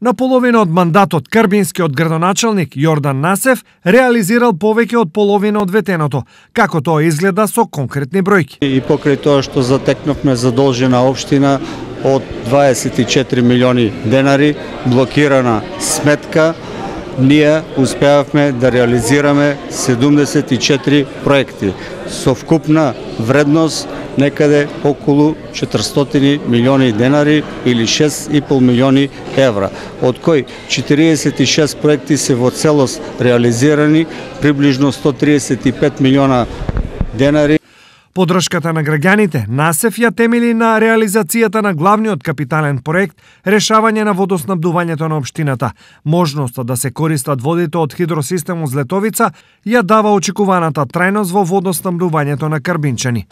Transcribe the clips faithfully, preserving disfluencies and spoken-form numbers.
На половина од мандатот карбинскиот градоначалник Јордан Насев реализирал повеќе од половина од ветеното, како тоа изгледа со конкретни бројки. И покрај тоа што затекнавме задолжена општина од дваесет и четири милиони денари, блокирана сметка, ние успеавме да реализираме седумдесет и четири проекти со вкупна вредност некаде околу четиристотини милиони денари или шест и пол милиони евра, од кои четириесет и шест проекти се во целост реализирани, приближно сто триесет и пет милиона денари. Подршката на граѓаните Насев ја темели на реализацијата на главниот капитален проект решавање на водоснабдувањето на општината. Можноста да се користат водите од хидросистемот Злетовица ја дава очекуваната трајност во водоснабдувањето на карбинчани.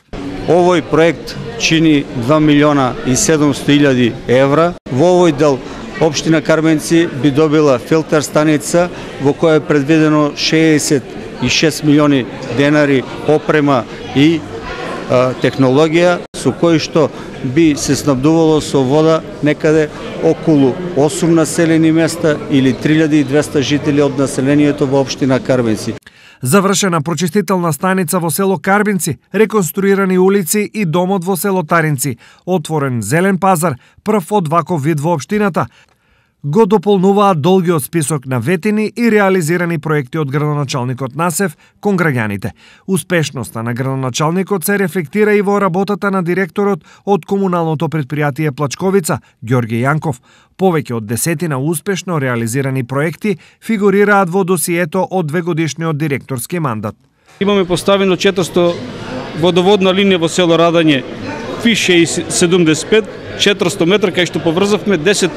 Овој проект чини два милиона и седумсто илјади евра. Во овој дел општина Карменци би добила филтер станица во која е предвидено шеесет и шест милиони денари опрема и технологија со кој што би се снабдувало со вода некаде околу осум населени места или три илјади и двесте жители од населението во општина Карбинци. Завршена прочистителна станица во село Карбинци, реконструирани улици и домот во село Таринци, отворен зелен пазар, прв од ваков вид во општината, го дополнуваат долгиот список на ветини и реализирани проекти од градоначалникот Насев кон граѓаните. Успешноста на градоначалникот се рефлектира и во работата на директорот од комуналното предпријатие Плачковица, Ѓорѓе Јанков. Повеќе од десетина успешно реализирани проекти фигурираат во досието од двегодишниот директорски мандат. Имаме поставено четиристо водоводна линија во село Радање, Фи седумдесет и пет, четиристо метра, кај што поврзавме десет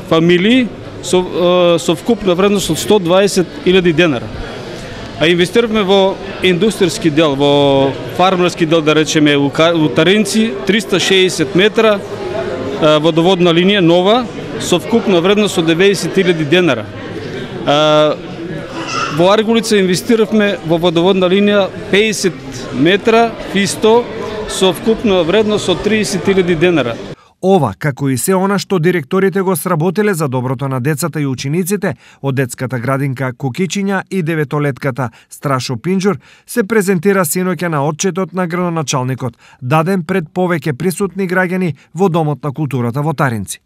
фамилии со, со вкупна вредност од сто дваесет илјади денара. А инвестиравме во индустријски дел, во фармерски дел, да речеме, у Таринци, триста шеесет метра водоводна линија нова со вкупна вредност од деветдесет илјади денара. Во Аргулица инвестиравме во водоводна линија педесет метра Фи сто со вкупна вредност од триесет илјади денара. Ова, како и се она што директорите го сработиле за доброто на децата и учениците од детската градинка Кукичиња и деветолетката Страшо Пинџур, се презентира синоќа на отчетот на градоначалникот, даден пред повеќе присутни граѓани во Домот на културата во Таринци.